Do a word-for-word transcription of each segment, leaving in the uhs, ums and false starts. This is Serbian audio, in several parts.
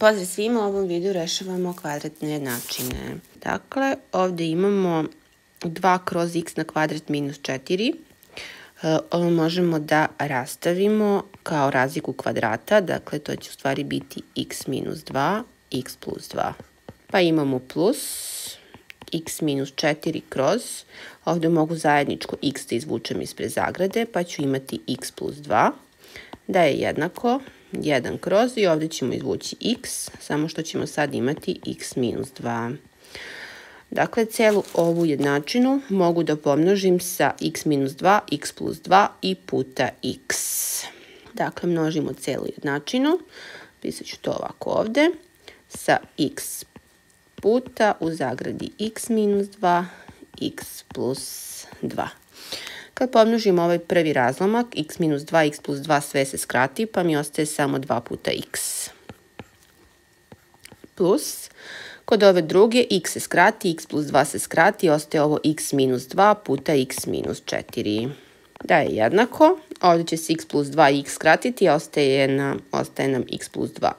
Pozdrav svima, u ovom videu rešavamo kvadratne jednačine. Dakle, ovdje imamo dva kroz x na kvadrat minus četiri. Ovo možemo da rastavimo kao razliku kvadrata, dakle to će u stvari biti x minus dva, x plus dva. Pa imamo plus x minus četiri kroz, ovdje mogu zajedničko x da izvučem ispred zagrade, pa ću imati x plus dva, da je jednako jedan kroz i ovdje ćemo izvući x, samo što ćemo sad imati x minus dva. Dakle, celu ovu jednačinu mogu da pomnožim sa x minus dva, x plus dva i puta x. Dakle, množimo celu jednačinu, pisat ću to ovako ovdje, sa x puta u zagradi x minus dva, x plus dva. Kad pomnožimo ovaj prvi razlomak, x minus dva, x plus dva sve se skrati, pa mi ostaje samo dva puta x. Plus, kod ove druge, x se skrati, x plus dva se skrati, ostaje ovo x minus dva puta x minus četiri. Da je jednako, ovdje će se x plus dva i x skratiti, a ostaje nam, ostaje nam x plus dva.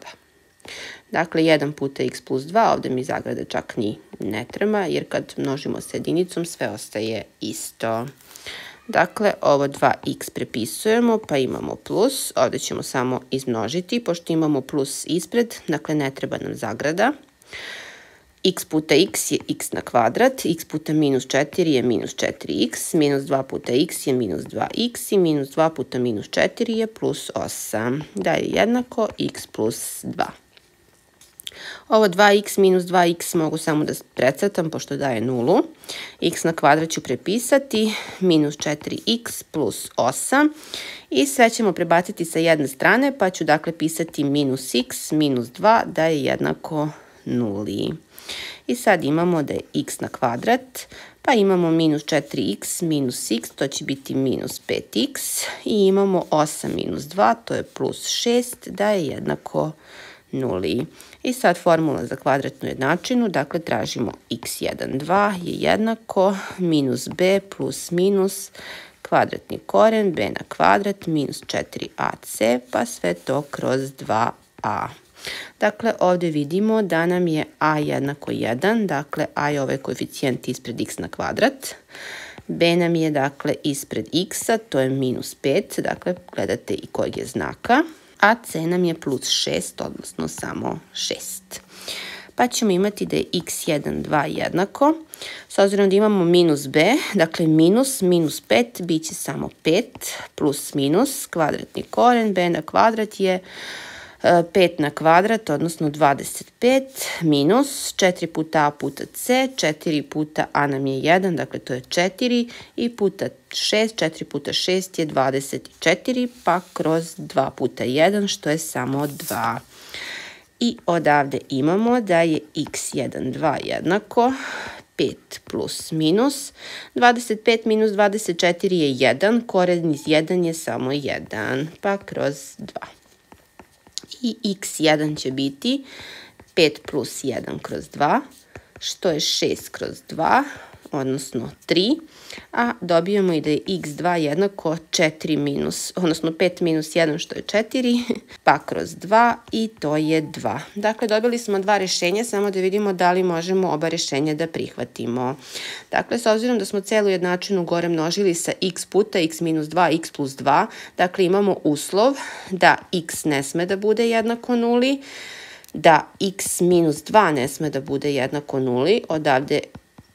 Dakle, jedan puta x plus dva, ovdje mi zagrada čak ni ne treba, jer kad množimo sa jedinicom, sve ostaje isto. Dakle, ovo dva x prepisujemo, pa imamo plus, ovdje ćemo samo izmnožiti, pošto imamo plus ispred, dakle ne treba nam zagrada. X puta x je x na kvadrat, x puta minus četiri je minus četiri x, minus dva puta x je minus dva x i minus dva puta minus četiri je plus osam, da je jednako x plus dva. Ovo dva x minus dva x mogu samo da precrtam pošto daje nulu. X na kvadrat ću prepisati, minus četiri x plus osam i sve ćemo prebaciti sa jedne strane pa ću dakle pisati minus x minus dva da je jednako nuli. I sad imamo da je x na kvadrat, pa imamo minus četiri x minus x, to će biti minus pet x i imamo osam minus dva, to je plus šest, da je jednako nuli. I sad formula za kvadratnu jednačinu, dakle tražimo x jedan, dva je jednako minus b plus minus kvadratni koren b na kvadrat minus četiri a c, pa sve to kroz dva a. Dakle, ovdje vidimo da nam je a jednako jedan, dakle a je ovaj koeficijent ispred x na kvadrat. B nam je dakle ispred x-a, to je minus pet, dakle gledate i kojeg je znaka. A c nam je plus šest, odnosno samo šest. Pa ćemo imati da je x jedan, dva jednako. S obzirom da imamo minus b, dakle minus, minus pet, bit će samo pet, plus minus, kvadratni koren b na kvadrat je pet na kvadrat, odnosno dvadeset pet, minus četiri puta a puta c, četiri puta a nam je jedan, dakle to je četiri, i puta šest, četiri puta šest je dvadeset četiri, pa kroz dva puta jedan, što je samo dva. I odavde imamo da je x jedan, dva jednako pet plus minus, dvadeset pet minus dvadeset četiri je jedan, koren iz jedan je samo jedan, pa kroz dva. I x jedan će biti pet plus jedan kroz dva, što je šest kroz dva, odnosno tri, a dobijemo i da je x dva jednako četiri minus, odnosno pet minus jedan, što je četiri, pa kroz dva i to je dva. Dakle, dobili smo dva rješenja, samo da vidimo da li možemo oba rješenja da prihvatimo. Dakle, s obzirom da smo celu jednačinu gore množili sa x puta x minus dva, x plus dva, dakle imamo uslov da x ne sme da bude jednako nuli, da x minus dva ne sme da bude jednako nuli, odavde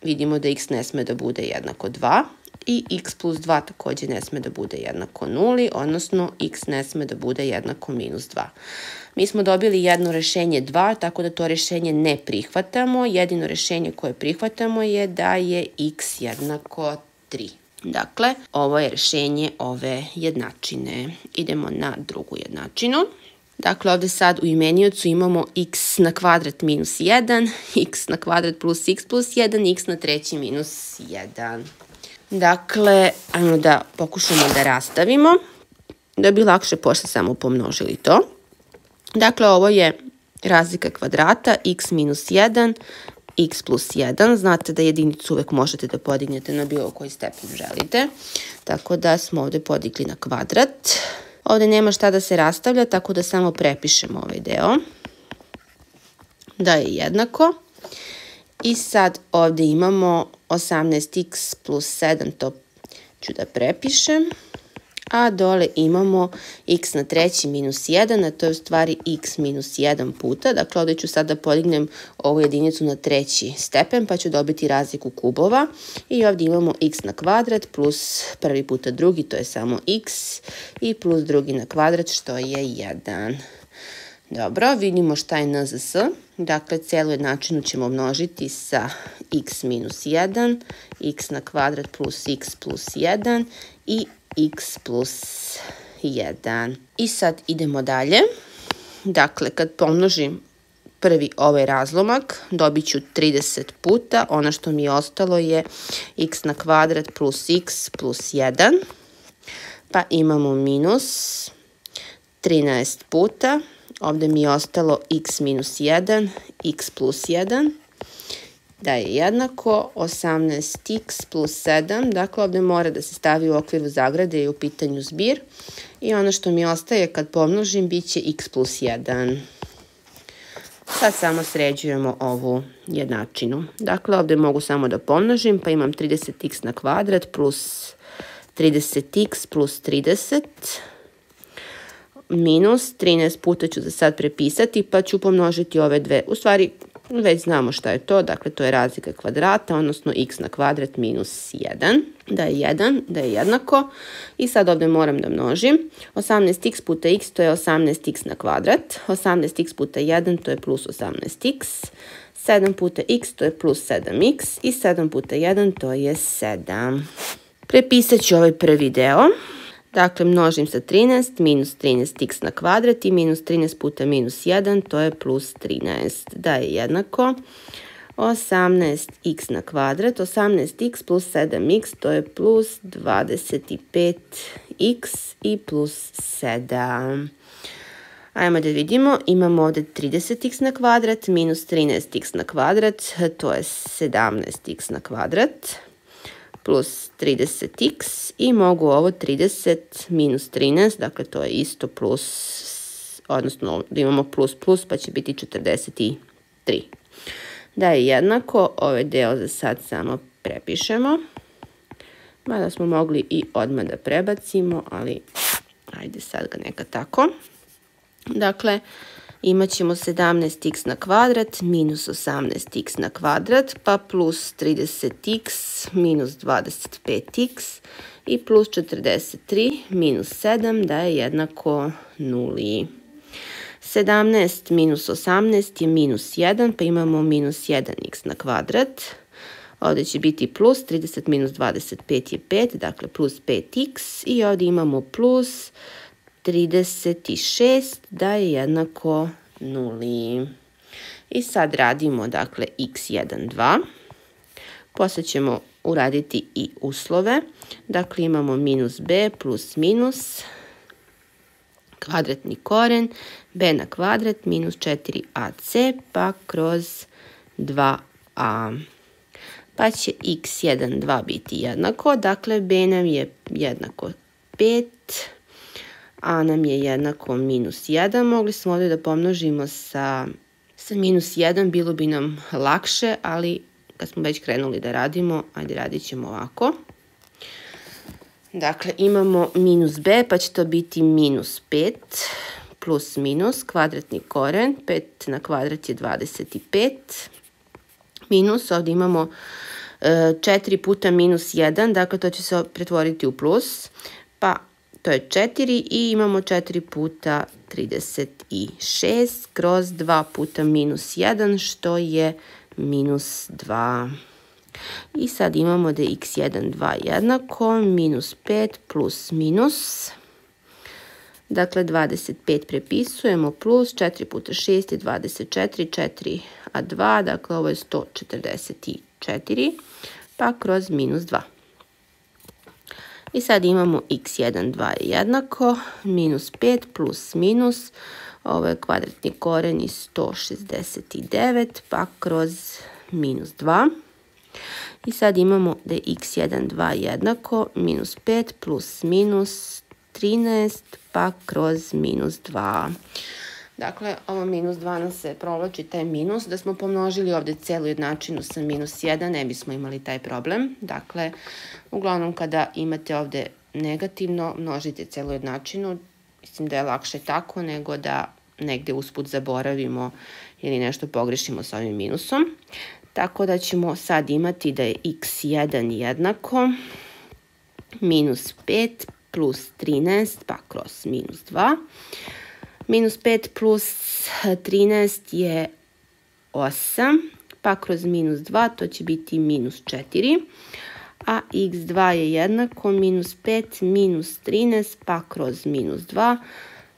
vidimo da x ne sme da bude jednako dva i x plus dva također ne sme da bude jednako nuli, odnosno x ne sme da bude jednako minus dva. Mi smo dobili jedno rješenje dva, tako da to rješenje ne prihvatamo. Jedino rješenje koje prihvatamo je da je x jednako tri. Dakle, ovo je rješenje ove jednačine. Idemo na drugu jednačinu. Dakle, ovdje sad u imeniocu imamo x na kvadrat minus jedan, x na kvadrat plus x plus jedan, x na treći minus jedan. Dakle, ajmo da pokušamo da rastavimo, da bi lakše posle samo pomnožili to. Dakle, ovo je razlika kvadrata, x minus jedan, x plus jedan. Znate da jedinicu uvek možete da podignete na bilo koji stepen želite. Tako da smo ovdje podigli na kvadrat. Ovdje nema šta da se rastavlja, tako da samo prepišemo ovaj deo. da je jednako. I sad ovdje imamo osamnaest x plus sedam, to ću da prepišem. A dole imamo x na treći minus jedan, a to je u stvari x minus jedan puta. Dakle, ovdje ću sad da podignem ovu jedinicu na treći stepen, pa ću dobiti razliku kubova. I ovdje imamo x na kvadrat plus prvi puta drugi, to je samo x, i plus drugi na kvadrat, što je jedan. Dobro, vidimo šta je n z s. Dakle, celu jednačinu ćemo množiti sa x minus jedan, x na kvadrat plus x plus jedan i x plus jedan. I sad idemo dalje. Dakle, kad pomnožim prvi ovaj razlomak, dobit ću trideset puta. Ono što mi je ostalo je x na kvadrat plus x plus jedan. Pa imamo minus trinaest puta. Ovdje mi je ostalo x minus jedan, x plus jedan. Da je jednako osamnaest x plus sedam, dakle ovdje mora da se stavi u okviru zagrade i u pitanju zbir. I ono što mi ostaje kad pomnožim bit će x plus jedan. Sad samo sređujemo ovu jednačinu. Dakle, ovdje mogu samo da pomnožim, pa imam trideset x na kvadrat plus trideset x plus trideset minus trinaest puta ću za sad prepisati, pa ću pomnožiti ove dve. U stvari, već znamo šta je to, dakle to je razlika kvadrata, odnosno x na kvadrat minus jedan, da je jedan, da je jednako. I sad ovdje moram da množim. osamnaest x puta x to je osamnaest x na kvadrat, osamnaest x puta jedan to je plus osamnaest x, sedam puta x to je plus sedam x i sedam puta jedan to je sedam. Prepisat ću ovaj prvi deo. Dakle, množim sa trinaest, minus trinaest x na kvadrat i minus trinaest puta minus jedan, to je plus trinaest. Da je jednako osamnaest x na kvadrat, osamnaest x plus sedam x, to je plus dvadeset pet x i plus sedam. Ajmo da vidimo, imamo ovdje trideset x na kvadrat, minus trinaest x na kvadrat, to je sedamnaest x na kvadrat. Plus trideset x i mogu ovo trideset minus trinaest, dakle to je isto plus, odnosno da imamo plus plus pa će biti četrdeset tri. Da je jednako, ovaj deo za sad samo prepišemo. Mada smo mogli i odmah da prebacimo, ali ajde sad ga neka tako. Dakle, imat ćemo sedamnaest x na kvadrat minus osamnaest x na kvadrat, pa plus trideset x minus dvadeset pet x i plus četrdeset tri minus sedam, da je jednako nuli. sedamnaest minus osamnaest je minus jedan, pa imamo minus jedan x na kvadrat. Ovdje će biti plus, trideset minus dvadeset pet je pet, dakle plus pet x i ovdje imamo plus trideset šest, da je jednako nuli. I sad radimo, dakle, x jedan, dva. Poslije ćemo uraditi i uslove. Dakle, imamo minus b plus minus kvadratni koren b na kvadrat minus četiri a c pa kroz dva a. Pa će x jedan, dva biti jednako. Dakle, b nam je jednako pet. A nam je jednako minus jedan. Mogli smo ovdje da pomnožimo sa, sa minus jedan, bilo bi nam lakše, ali kad smo već krenuli da radimo, ajde radit ćemo ovako. Dakle, imamo minus b, pa će to biti minus pet, plus minus, kvadratni koren, pet na kvadrat je dvadeset pet, minus, ovdje imamo e, četiri puta minus jedan, dakle to će se pretvoriti u plus, pa to je četiri i imamo četiri puta trideset šest kroz dva puta minus jedan, što je minus dva. I sad imamo da je x jedan, dva jednako, minus pet plus minus. Dakle, dvadeset pet prepisujemo plus četiri puta šest je dvadeset četiri, četiri a dva, dakle ovo je sto četrdeset četiri, pa kroz minus dva. I sad imamo x jedan, dva je jednako, minus pet plus minus, ovo je kvadratni koren i sto šezdeset devet, pa kroz minus dva. I sad imamo da je x jedan, dva jednako, minus pet plus minus trinaest, pa kroz minus dva. Dakle, ovo minus dva nam se provlači taj minus. Da smo pomnožili ovde celu jednačinu sa minus jedan, ne bismo imali taj problem. Dakle, uglavnom kada imate ovde negativno, množite celu jednačinu. Mislim da je lakše tako nego da negde usput zaboravimo ili nešto pogrešimo sa ovim minusom. Tako da ćemo sad imati da je iks jedan jednako minus pet plus trinaest pa kroz minus dva. Minus pet plus trinaest je osam, pa kroz minus dva to će biti minus četiri. A iks dva je jednako minus pet minus trinaest pa kroz minus dva.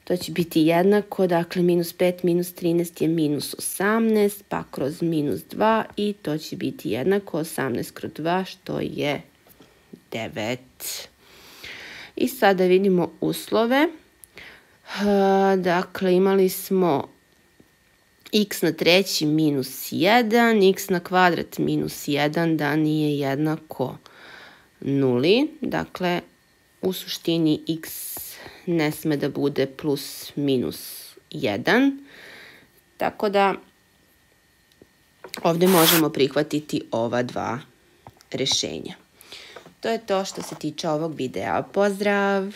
To će biti jednako, dakle minus pet minus trinaest je minus osamnaest pa kroz minus dva i to će biti jednako osamnaest kroz dva što je devet. I sada vidimo uslove. Dakle, imali smo x na treći minus jedan, x na kvadrat minus jedan da nije jednako nuli. Dakle, u suštini x ne sme da bude plus minus jedan. Tako da ovde možemo prihvatiti ova dva rešenja. To je to što se tiče ovog videa. Pozdrav!